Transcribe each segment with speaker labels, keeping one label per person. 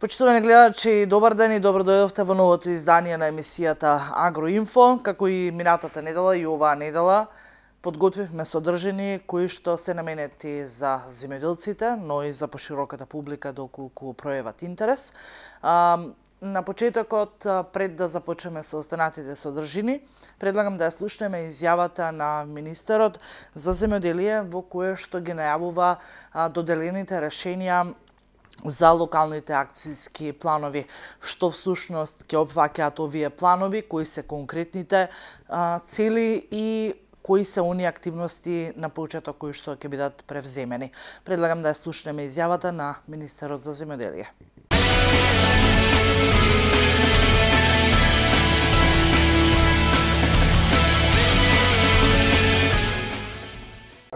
Speaker 1: Почитувани гледачи, добар ден и добро дојдовте во новото издание на емисијата Агроинфо. Како и минатата недела и оваа недела, подготвивме содржини кои што се наменети за земјоделците, но и за пошироката публика доколку пројават интерес. На почетокот, пред да започнеме со останатите содржини, предлагам да ја слушнеме изјавата на министерот за земјоделие во кое што ги најавува доделените решенија за локалните акцијски планови. Што всушност ќе опфаќаат овие планови, кои се конкретните цели и кои се оние активности на почеток кои што ќе бидат превземени. Предлагам да ја слушнеме изјавата на министерот за земјоделие.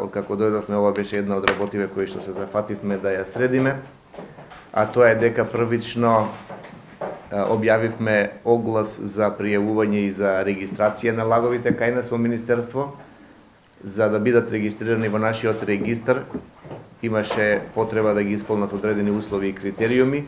Speaker 2: Откако дојдовме, ова беше една од работиве кои што се зафативме да ја средиме, а тоа е дека првично објавивме оглас за пријавување и за регистрација на лаговите кај нас во Министерство. За да бидат регистрирани во нашиот регистар, имаше потреба да ги исполнат одредени услови и критериуми,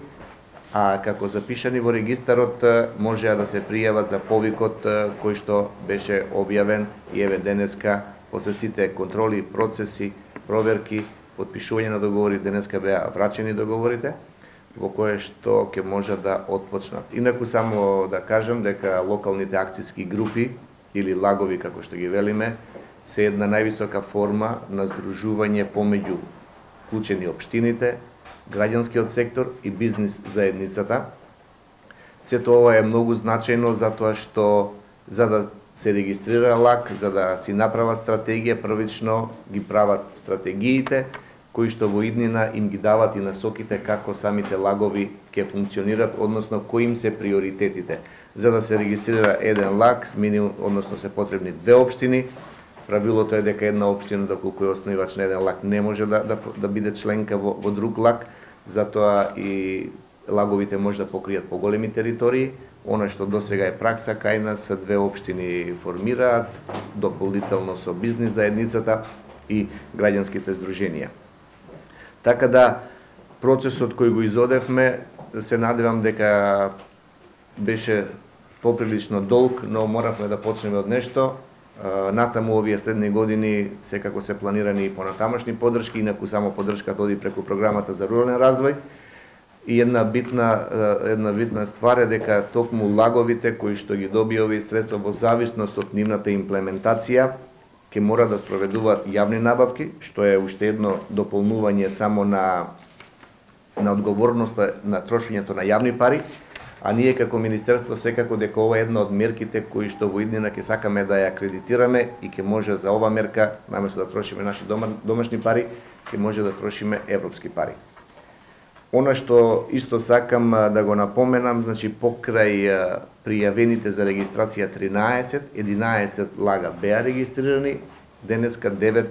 Speaker 2: а како запишани во регистарот можеа да се пријават за повикот кој што беше објавен и еве денеска после сите контроли, процеси, проверки, потпишување на договори, денеска беа врачени договорите, во кое што ќе може да отпочнат. Инаку само да кажам дека локалните акцијски групи или лагови како што ги велиме се една највисока форма на здружување помеѓу вклучени општините, граѓанскиот сектор и бизнис заедницата. Сето ова е многу значајно затоа што за да се регистрира лаг, за да си направат стратегија, првично ги прават стратегиите, кои што во иднина им ги дават и насоките како самите лагови ќе функционират, односно кои им се приоритетите. За да се регистрира еден лаг, односно се потребни две општини. Правилото е дека една општина, доколку е основивач на еден лаг, не може да биде членка во друг лаг, затоа и лаговите може да покријат поголеми територии. Она што досега е пракса кај нас, две општини формираат, дополнително со бизнис заедницата и граѓанските здруженија. Така да, процесот кој го изодевме, се надевам дека беше поприлично долг, но моравме да почнеме од нешто. Натаму овие следни години секако се планирани и понатамашни поддршки, инаку само поддршката оди преку програмата за рурален развој. И една битна ствар е дека токму лаговите кои што ги добија овие средства во зависност од нивната имплементација ќе мора да спроведуваат јавни набавки, што е уште едно дополнување само на одговорноста на трошењето на јавни пари, а ние како Министерство секако дека ова е една од мерките кои што во иднина ќе сакаме да ја акредитираме и ќе може за ова мерка, наместо да трошиме наши домашни пари, ќе може да трошиме европски пари. Она што исто сакам да го напоменам, значи покрај пријавените за регистрација 11 лага беа регистрирани, денеска 9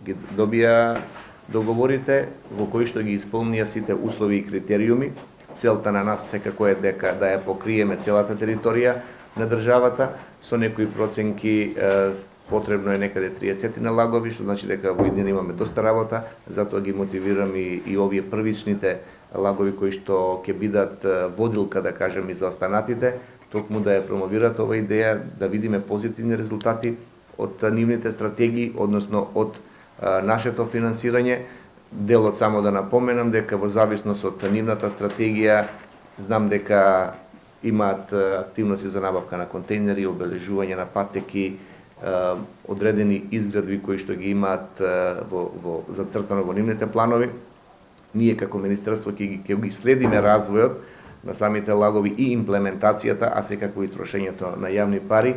Speaker 2: ги добија договорите во кои што ги исполнија сите услови и критериуми. Целта на нас секако е дека да ја покриеме целата територија на државата, со некои проценки потребно е некаде 30 на лагови, што значи дека во иднина имаме доста работа, затоа ги мотивирам и овие првичните лагови кои што ќе бидат водилка, да кажем, и за останатите, токму да ја промовираат ова идеја, да видиме позитивни резултати од нивните стратегии, односно од нашето финансирање. Делот само да напоменам дека во зависност од нивната стратегија, знам дека имаат активности за набавка на контейнери, обележување на патеки, одредени изградби кои што ги имаат зацртано во нивните планови. Ние како Министерство ќе ги следиме развојот на самите лагови и имплементацијата, а секако и трошењето на јавни пари,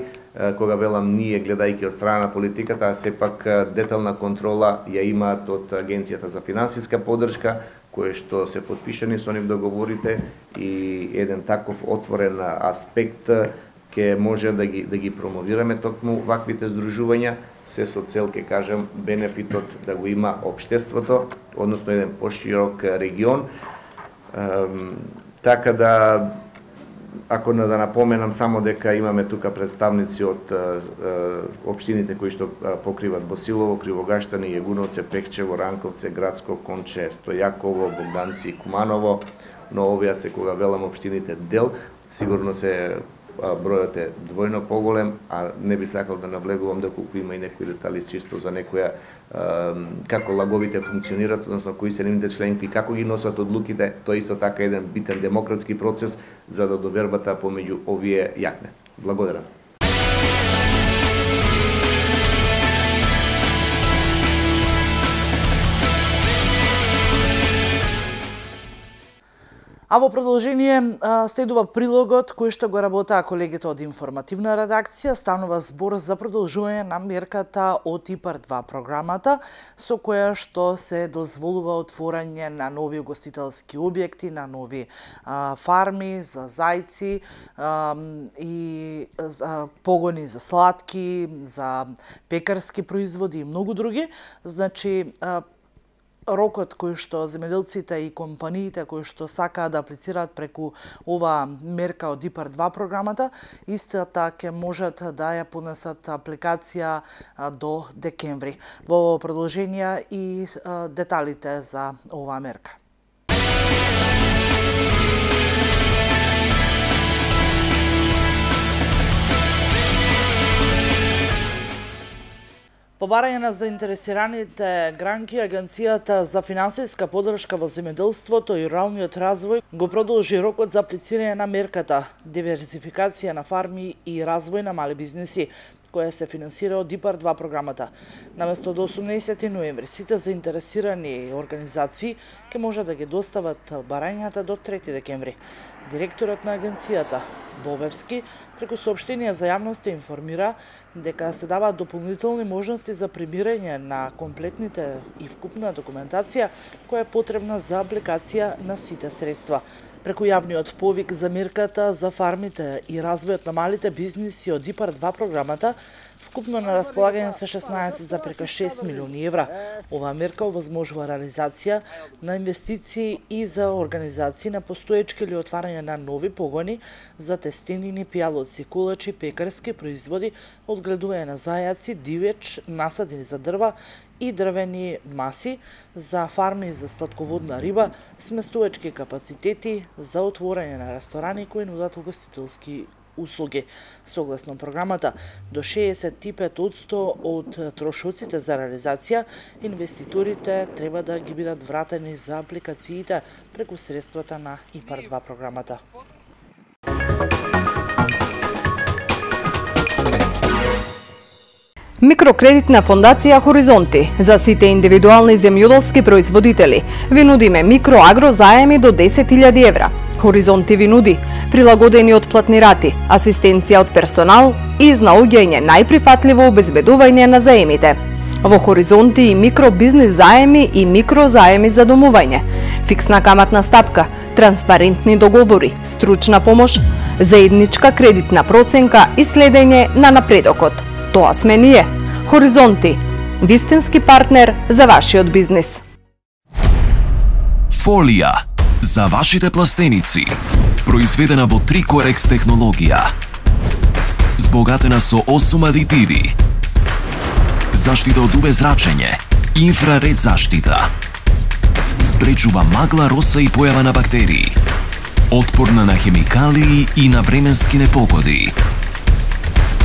Speaker 2: кога велам ние гледајќи од страна на политиката, а сепак детална контрола ја имаат од Агенцијата за финансиска поддршка, кое што се потпишани со нив договорите и еден таков отворен аспект ќе може да ги промовираме токму ваквите здружувања, се со цел, ке кажем, бенефитот да го има општеството, односно еден поширок регион. Така да, ако да напоменам само дека имаме тука представници од општините кои што покриват Босилово, Кривогаштани, Јегуновце, Пекчево, Ранковце, Градско, Конче, Стојаково, Богданци и Куманово, но овие се кога велам општините дел, сигурно се бројот е двојно поголем, а не би сакал да навлегувам доколку има и некои детали чисто за некоја како лаговите функционираат, односно кои се нивните членки, како ги носат одлуките, тоа исто така еден битен демократски процес за да довербата помеѓу овие јакне. Благодарам.
Speaker 1: А во продолжение следува прилогот кој што го работаа колегите од информативна редакција. Станува збор за продолжување на мерката од ИПАР-2 програмата, со која што се дозволува отворање на нови угостителски објекти, на нови фарми за зајци и погони за сладки, за пекарски производи и многу други. Значи, рокот кој што земјоделците и компаниите кои што сакаат да аплицираат преку ова мерка од ИПАР-2 програмата, истата ќе можат да ја поднесат апликација до декември. Во продолжение и деталите за оваа мерка. По барање на заинтересираните гранки, Агенцијата за финансиска поддршка во земјоделството и руралниот развој го продолжи рокот за аплицирање на мерката диверзификација на фарми и развој на мали бизнеси, која се финансира од ИПАР-2 програмата. Наместо до 18 ноември, сите заинтересирани организации ќе можат да ги достават барањата до 3 декември. Директорот на агенцијата, Бобевски, преку соопштенија за јавноста информира дека се даваат дополнителни можности за прибирање на комплетните и вкупна документација која е потребна за апликација на сите средства. Преку јавниот повик за мерката за фармите и развојот на малите бизниси од ИПАР-2 програмата, вкупно на располагање се 16,6 милиони евра. Оваа мерка овозможува реализација на инвестиции и за организации на постоечки или отварање на нови погони за тестенини, пијалоци, кулачи, пекарски производи, одгледување на зајаци, дивеч, насадини за дрва и дрвени маси, за фарми за сладководна риба, сместувачки капацитети за отворање на ресторани кои нудат угостителски услуги. Согласно програмата, до 65% од трошоците за реализација, инвеститорите треба да ги бидат вратени за апликациите преку средствата на ИПАР-2 програмата.
Speaker 3: Микрокредитна фондација Хоризонти за сите индивидуални земјоделски производители ви нудиме микроагро заеми до 10.000 евра. Хоризонти ви нуди прилагодени отплатни рати, асистенција од персонал и изнаоѓање најприфатливо обезбедување на заемите. Во Хоризонти и микробизнис заеми и микрозаеми за домување, фиксна каматна стапка, транспарентни договори, стручна помош, заедничка кредитна проценка и следење на напредокот. Тоа сме ние. Хоризонти, вистински партнер за вашиот бизнис.
Speaker 4: Фолија за вашите пластеници, произведена во Трикорекс технологија, збогатена со 8 адитиви, заштита од UV зрачење, инфраред заштита, спречува магла, роса и појава на бактерии, отпорна на хемикалии и на временски непогоди.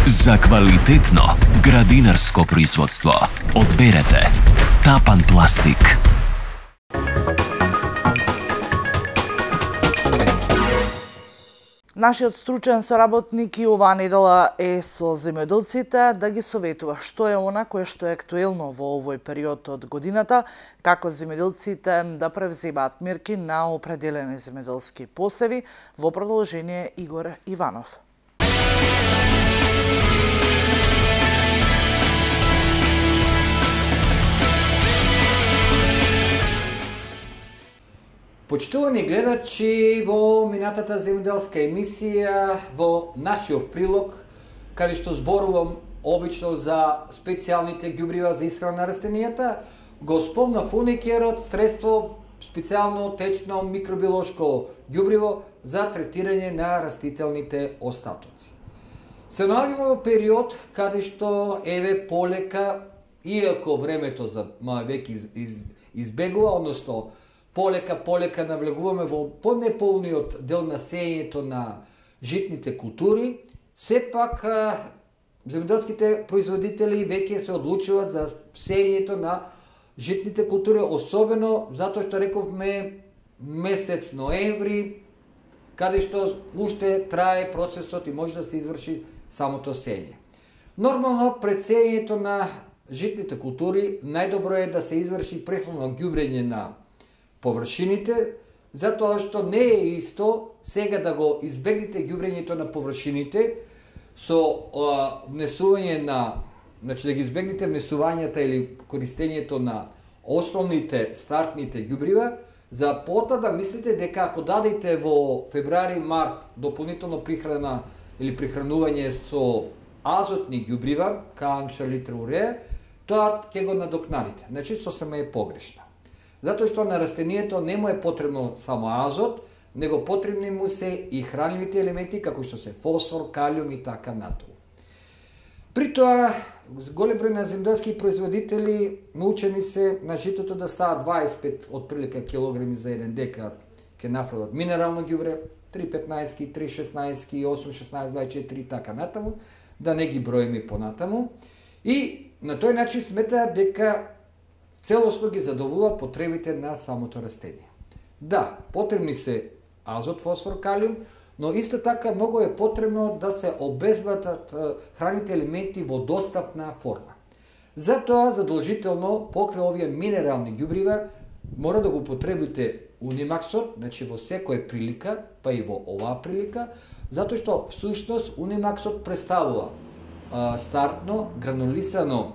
Speaker 4: За квалитетно градинарско производство одберете Тапан пластик.
Speaker 1: Нашиот стручен соработник и оваа недела е со земјоделците да ги советува што е она кое што е актуелно во овој период од годината, како земјоделците да превземаат мерки на определени земјоделски посеви. Во продолжение Игор Иванов.
Speaker 5: Почитувани гледачи, во минатата земјоделска емисија, во нашиот прилог, каде што зборувам обично за специјалните ѓубрива за исхрана на растенијата, го спомнав уникерот средство специјално течно микробиолошко ѓубриво за третирање на растителните остатоци. Се наоѓаме во период каде што еве полека, иако времето за веќе избегува, односно полека навлегуваме во понеполниот дел на сеењето на житните култури, сепак земјоделските производители веќе се одлучуваат за сеењето на житните култури, особено затоа што рековме месец ноември, каде што уште трае процесот и може да се изврши самото сење. Нормално, пред сеењето на житните култури, најдобро е да се изврши претходно ѓубрење на површините, затоа што не е исто сега да го избегнете ѓубрењето на површините со внесување на, значи да ги избегнете внесувањата или користењето на основните стартните ѓубрива, за пота да мислите дека ако дадете во февруари-март дополнително прихрана или прихранување со азотни ѓубрива, канча, литра уреја, тоа ќе го надокнадите. Значи, сосема е погрешно. Затоа што на растението не му е потребно само азот, него потребни му се и хранливите елементи, како што се фосфор, калиум и така натаму. При тоа, голем број на земјоделски производители научени се на житото да става 25 отприлика килограми за 1 декар ке нафрлат минерално ѓубре, 3,15, 3,16, 8,16, 24 и така натаму, да не ги броиме понатаму. И на тој начин сметаат дека целосно ги задоволува потребите на самото растение. Да, потребни се азот, фосфор, калиум, но исто така многу е потребно да се обезбедат храните елементи во достапна форма. Затоа задолжително покрај овие минерални ѓубрива мора да го потребите унимаксот, значи во секоја прилика, па и во оваа прилика, затоа што всушност унимаксот представува стартно гранулисано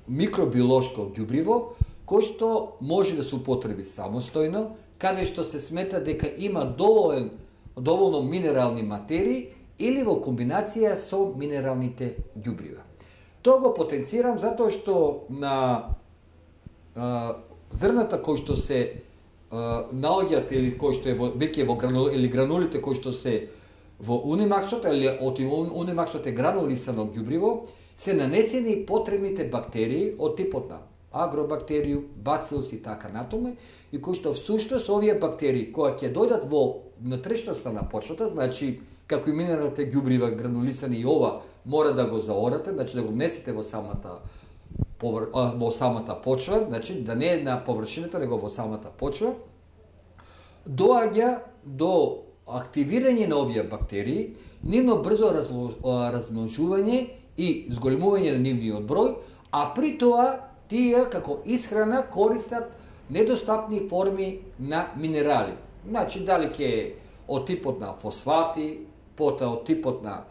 Speaker 5: микробиолошко ѓубриво кој што може да се употреби самостојно, каде што се смета дека има доволно минерални материи или во комбинација со минералните ѓубрива. Тоа го потенцирам затоа што на зрната кои што се наоѓаат или кои што е веќе во или гранулите кои што се во унимаксот, или од унимаксот е гранулисано ѓубриво, се нанесени потребните бактерии од типот на агробактериум, бацилус и така натаму, и кои што всушност овие бактерии кои ќе дојдат во внатрешноста на почвата, значи како и минералните ѓубрива гранулисани и ова мора да го заорате, значи да го внесете во самата почва, значи да не е на површината, него во самата почва, доаѓа до активирање на овие бактерии, нивно брзо размножување и зголемување на нивниот број, а при тоа тие како исхрана користат недостапни форми на минерали. Значи дали ќе е од типот на фосфати, потоа од типот на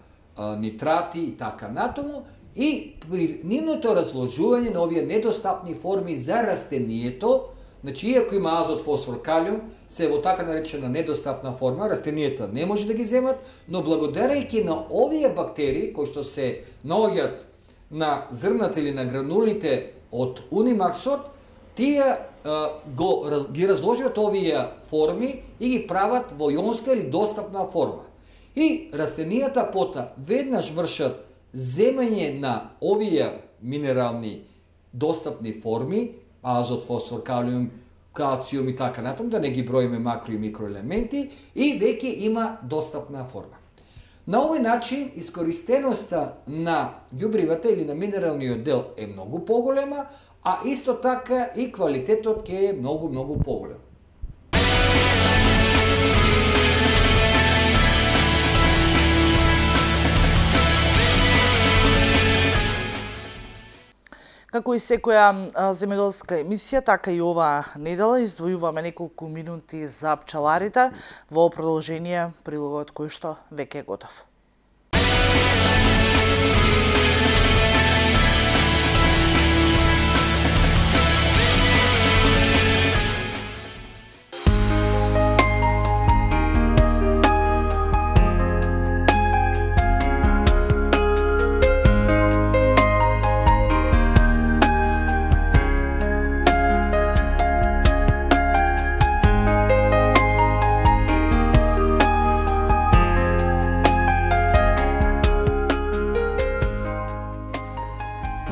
Speaker 5: нитрати и така натаму, и при нивното разложување на овие недостапни форми за растението, значи иако има азот, фосфор, калиум, се во така наречена недостапна форма, растенијата не може да ги земат, но благодарејќи на овие бактерии кои што се наоѓаат на зрната или на гранулите од унимаксот, тие ги разложат овие форми и ги прават во јонска или достапна форма. И растенијата пота веднаш вршат земање на овие минерални достапни форми, азот, фосфор, калиум, калциум и така натаму, да не ги броиме макро и микроелементи, и веќе има достапна форма. На овој начин искористеноста на ѓубривата или на минералниот дел е многу поголема, а исто така и квалитетот ќе е многу поголем.
Speaker 1: Како и секоја земјоделска емисија, така и оваа недела издвојуваме неколку минути за пчеларите во продолжение прилогот кој што веќе е готов.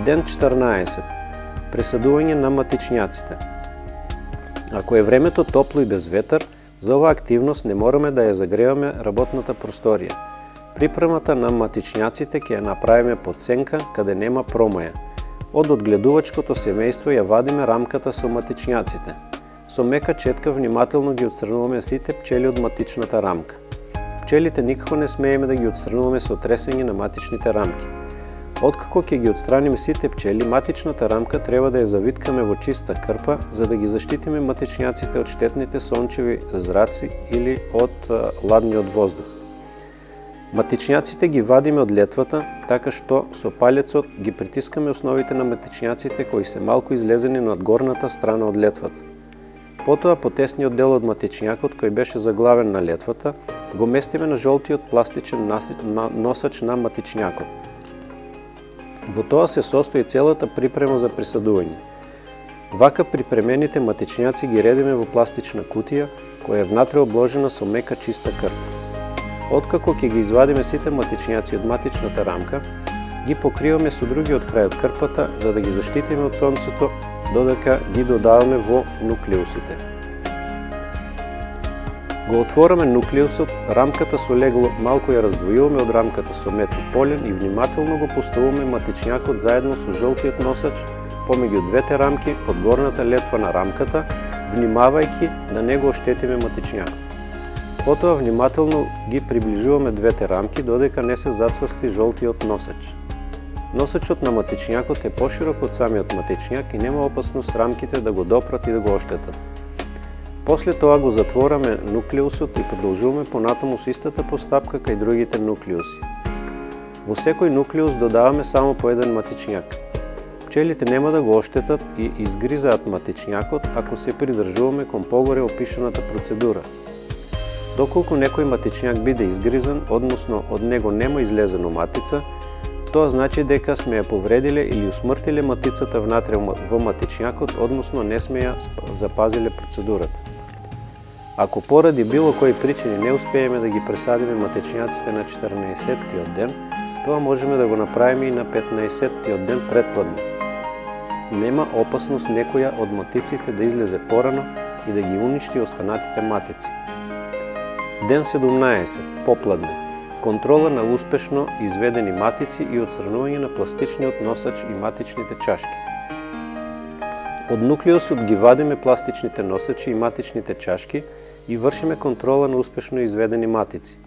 Speaker 6: Ден 14. Пресадување на матичњаците. Ако е времето топло и без ветар, за оваа активност не мораме да ја загреваме работната просторија. Припремата на матичњаците ќе ја направиме под сенка каде нема промаја. Од одгледувачкото семејство ја вадиме рамката со матичњаците. Со мека четка внимателно ги отстрануваме сите пчели од матичната рамка. Пчелите никако не смееме да ги отстрануваме со тресење на матичните рамки. Откако ќе ги отстраниме сите пчели, матичната рамка треба да ја завиткаме во чиста крпа, за да ги заштитиме матичњаците од штетните сончеви зраци или од ладниот воздух. Матичњаците ги вадиме од летвата, така што со палецот ги притискаме основите на матичњаците кои се малку излезени над горната страна од летвата. Потоа потесниот дел од матичњакот кој беше заглавен на летвата, го местиме на жолтиот пластичен носач на матичњакот. Во тоа се состои целата припрема за присадување. Вака припремените матичњаци ги редиме во пластична кутија, која е внатре обложена со мека чиста крпа. Откако ќе ги извадиме сите матичњаци од матичната рамка, ги покриваме со другиот крај од крпата за да ги заштитиме од сонцето, додека ги додаваме во нуклеусите. Го отвораме нуклеусот, рамката со легло малку ја раздвојуваме од рамката со мед и полен и внимателно го поставуваме матичњакот заедно со жолтиот носач помеѓу двете рамки под горната летва на рамката, внимавајќи да не го оштетиме матичњакот. Потоа внимателно ги приближуваме двете рамки додека не се зацврсти жолтиот носач. Носачот на матичњакот е поширок од самиот матичњак и нема опасност рамките да го допрат и да го оштетат. После тоа го затвораме нуклеусот и продолжуваме понатаму со истата постапка кај другите нуклеуси. Во секој нуклеус додаваме само по еден матичњак. Пчелите нема да го оштетат и изгризаат матичњакот ако се придржуваме кон погоре опишаната процедура. Доколку некој матичњак биде изгризан, односно од него нема излезено матица, тоа значи дека сме ја повредиле или усмртиле матицата внатре во матичњакот, односно не сме ја запазиле процедурата. Ако поради било кои причини не успееме да ги пресадиме матичњаците на 14-тиот ден, тоа можеме да го направиме и на 15-тиот ден пред пладне. Нема опасност некоја од матиците да излезе порано и да ги уништи останатите матици. Ден 17. Попладне. Контрола на успешно изведени матици и отстранување на пластичниот носач и матичните чашки. Од нуклеусот ги вадиме пластичните носачи и матичните чашки и вршиме контрола на успешно изведени матици.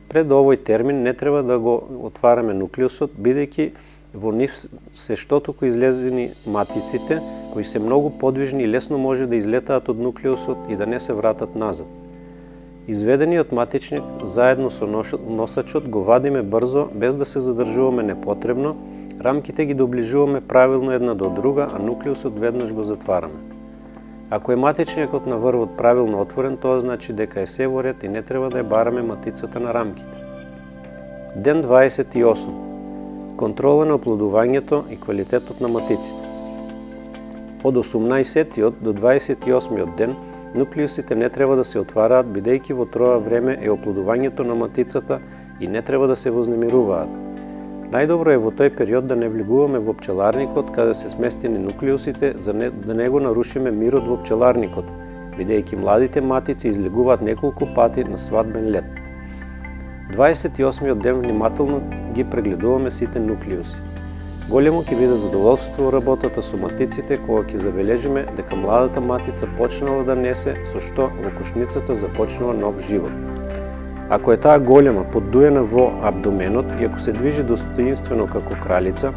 Speaker 6: Пред овој термин не треба да го отвараме нуклеусот, бидејќи во нив се штотоку излезени матиците, кои се многу подвижни и лесно може да излетаат од нуклеусот и да не се вратат назад. Изведениот матичник заедно со носачот го вадиме брзо, без да се задржуваме непотребно, рамките ги доближуваме правилно една до друга, а нуклеусот веднаш го затвараме. Ако е матичникот на врвот правилно отворен, тоа значи дека е се во ред и не треба да ја бараме матицата на рамките. Ден 28. Контрола на оплодувањето и квалитетот на матиците. Од 18-тиот до 28-тиот ден нуклеусите не треба да се отвараат, бидејќи во тоа време е оплодувањето на матицата и не треба да се вознемируваат. Најдобро е во тој период да не влегуваме во пчеларникот каде се сместени нуклеусите, за да не го нарушиме мирот во пчеларникот, бидејќи младите матици излегуваат неколку пати на свадбен лет. 28-тиот ден внимателно ги прегледуваме сите нуклеуси. Големо ќе биде задоволството во работата со матиците кога ќе забележиме дека младата матица почнала да несе, со што во кошницата започнува нов живот. Ако е таа голема, поддуена во абдоменот и ако се движи достоинствено како кралица,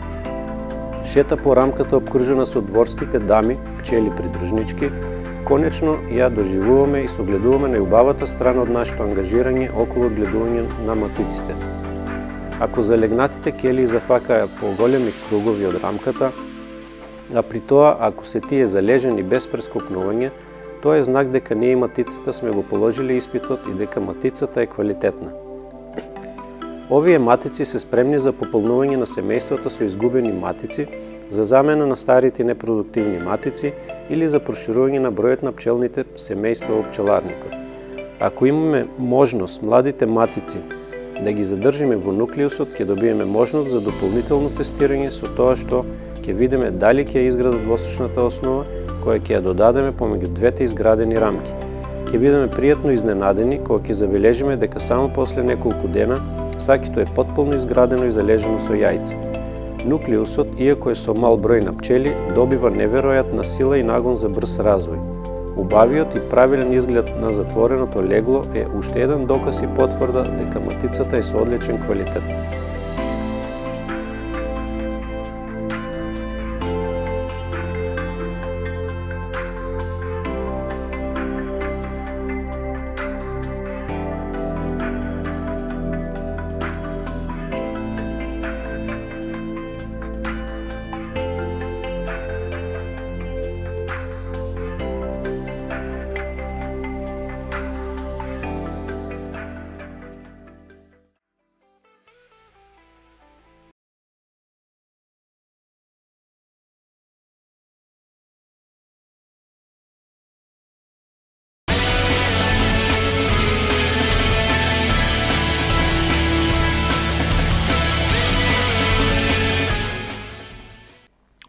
Speaker 6: шета по рамката обкружена со дворските дами, пчели придружнички, конечно ја доживуваме и согледуваме најубавата страна од нашето ангажирање околу одгледување на матиците. Ако залегнатите келии зафакаат поголеми кругови од рамката, а при тоа ако се тие залежени без прескокнување, тоа е знак дека ние и матицата сме го положиле испитот и дека матицата е квалитетна. Овие матици се спремни за пополнување на семејствата со изгубени матици, за замена на старите непродуктивни матици или за проширување на бројот на пчелните семејства во пчеларникот. Ако имаме можност младите матици да ги задржиме во нуклеусот, ќе добиеме можност за дополнително тестирање со тоа што ќе видиме дали ќе изградат восочната основа, која ќе ја додадеме помеѓу двете изградени рамки. Ќе бидеме пријатно изненадени кога ќе забележиме дека само после неколку дена сакито е потполно изградено и залежено со јајца. Нуклеусот, иако е со мал број на пчели, добива неверојатна сила и нагон за брз развој. Убавиот и правилен изглед на затвореното легло е уште еден доказ и потврда дека матицата е со одличен квалитет.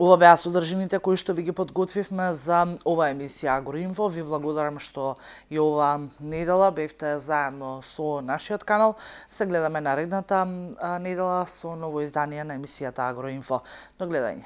Speaker 1: Ова беа содржините кои што ви ги подготвивме за ова емисија Агроинфо. Ви благодарам што и ова недела бевте заедно со нашиот канал. Се гледаме наредната недела со ново издание на емисијата Агроинфо. До гледање.